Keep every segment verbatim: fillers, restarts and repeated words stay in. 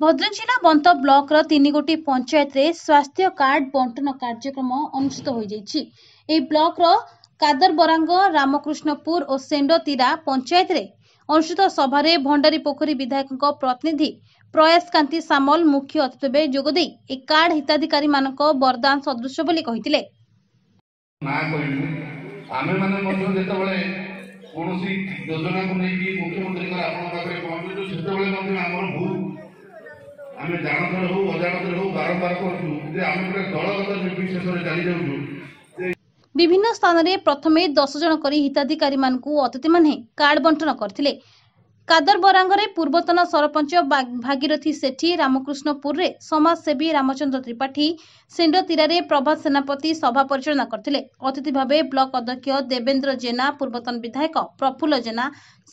ଭଦ୍ରକ ଜିଲ୍ଲା ବନ୍ତ ବ୍ଲକର ତିନିଗୋଟି ପଞ୍ଚାୟତରେ ସ୍ୱାସ୍ଥ୍ୟ କାର୍ଡ ବଣ୍ଟନ କାର୍ଯ୍ୟକ୍ରମ ଅନୁଷ୍ଠିତ ହୋଇଯାଇଛି। ଏହି ବ୍ଲକର କାଦରବରାଙ୍ଗ, ରାମକୃଷ୍ଣପୁର ଓ ସେଣ୍ଡତୀରା ପଞ୍ଚାୟତରେ ଅନୁଷ୍ଠିତ ସଭାରେ ଭଣ୍ଡାରୀପୋଖରୀ ବିଧାୟକଙ୍କ ପ୍ରତିନିଧି ପ୍ରୟାସକାନ୍ତି ସାମଲ ମୁଖ୍ୟ ଅତିଥି ଭାବେ ଯୋଗଦେଇ ଏହି କାର୍ଡ ହିତାଧିକାରୀମାନଙ୍କ ବରଦାନ ସଦୃଶ ବୋଲି କହିଥିଲେ। ନା କହିବୁ, ଆମେମାନେ ମଧ୍ୟ ଯେତେବେଳେ କୌଣସି ଯୋଜନାକୁ ନେଇକି ମୁଖ୍ୟମନ୍ତ୍ରୀଙ୍କର ଆପଣଙ୍କ ପାଖରେ ପହଞ୍ଚୁଛୁ, ସେତେବେଳେ ମଧ୍ୟ ଆମର ଭୁଲ ଆମେ ଜାଣତରେ ହଉ ଅଜାଣତରେ ହଉ ବାରମ୍ବାର କରୁଛୁ ଯେ ଆମେ ଗୋଟେ ଦଳଗତ ନିର୍ବିଶେଷରେ ଚାଲି ଯାଉଛୁ। ବିଭିନ୍ନ ସ୍ଥାନରେ ପ୍ରଥମେ ଦଶ ଜଣ କରି ହିତାଧିକାରୀମାନଙ୍କୁ ଅତିଥିମାନେ କାର୍ଡ ବଣ୍ଟନ କରିଥିଲେ। କାଦରବରାଙ୍ଗରେ ପୂର୍ବତନ ସରପଞ୍ଚ ଭାଗୀରଥୀ ସେଠୀ, ରାମକୃଷ୍ଣପୁରରେ ସମାଜସେବୀ ରାମଚନ୍ଦ୍ର ତ୍ରିପାଠୀ, ସେଣ୍ଡତୀରାରେ ପ୍ରଭାତ ସେନାପତି ସଭା ପରିଚାଳନା କରିଥିଲେ। ଅତିଥି ଭାବେ ବ୍ଲକ ଅଧ୍ୟକ୍ଷ ଦେବେନ୍ଦ୍ର ଜେନା, ପୂର୍ବତନ ବିଧାୟକ ପ୍ରଫୁଲ୍ଲ ଜେନା,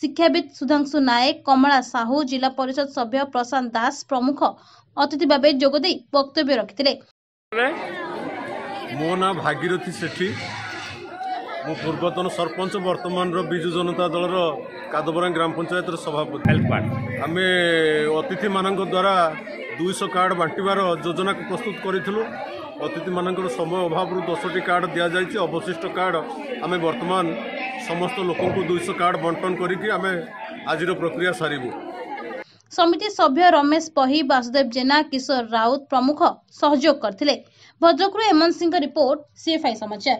ଶିକ୍ଷାବିତ୍ ସୁଧାଂଶୁ ନାୟକ, କମଳା ସାହୁ, ଜିଲ୍ଲା ପରିଷଦ ସଭ୍ୟ ପ୍ରଶାନ୍ତ ଦାସ ପ୍ରମୁଖ ଅତିଥି ଭାବେ ଯୋଗଦେଇ ବକ୍ତବ୍ୟ ରଖିଥିଲେ। ମୋ ନାଁ ଭାଗୀରଥୀ ସେଠୀ, ମୁଁ ପୂର୍ବତନ ସରପଞ୍ଚ, ବର୍ତ୍ତମାନର ବିଜୁ ଜନତା ଦଳର କାଦବରାଙ୍ଗ ଗ୍ରାମ ପଞ୍ଚାୟତର ସଭାପତି। ଆମେ ଅତିଥିମାନଙ୍କ ଦ୍ୱାରା ଦୁଇଶହ କାର୍ଡ଼ ବାଣ୍ଟିବାର ଯୋଜନାକୁ ପ୍ରସ୍ତୁତ କରିଥିଲୁ। ଅତିଥିମାନଙ୍କର ସମୟ ଅଭାବରୁ ଦଶଟି କାର୍ଡ଼ ଦିଆଯାଇଛି। ଅବଶିଷ୍ଟ କାର୍ଡ଼ ଆମେ ବର୍ତ୍ତମାନ ସମସ୍ତ ଲୋକଙ୍କୁ ଦୁଇଶହ କାର୍ଡ଼ ବଣ୍ଟନ କରିକି ଆମେ ଆଜିର ପ୍ରକ୍ରିୟା ସାରିବୁ। ସମିତି ସଭ୍ୟ ରମେଶ ପହି, ବାସୁଦେବ ଜେନା, କିଶୋର ରାଉତ ପ୍ରମୁଖ ସହଯୋଗ କରିଥିଲେ। ଭଦ୍ରକରୁ ଏମନ ସିଂଙ୍କ ରିପୋର୍ଟ, ସିଏଫ୍ଆଇ ସମାଚାର।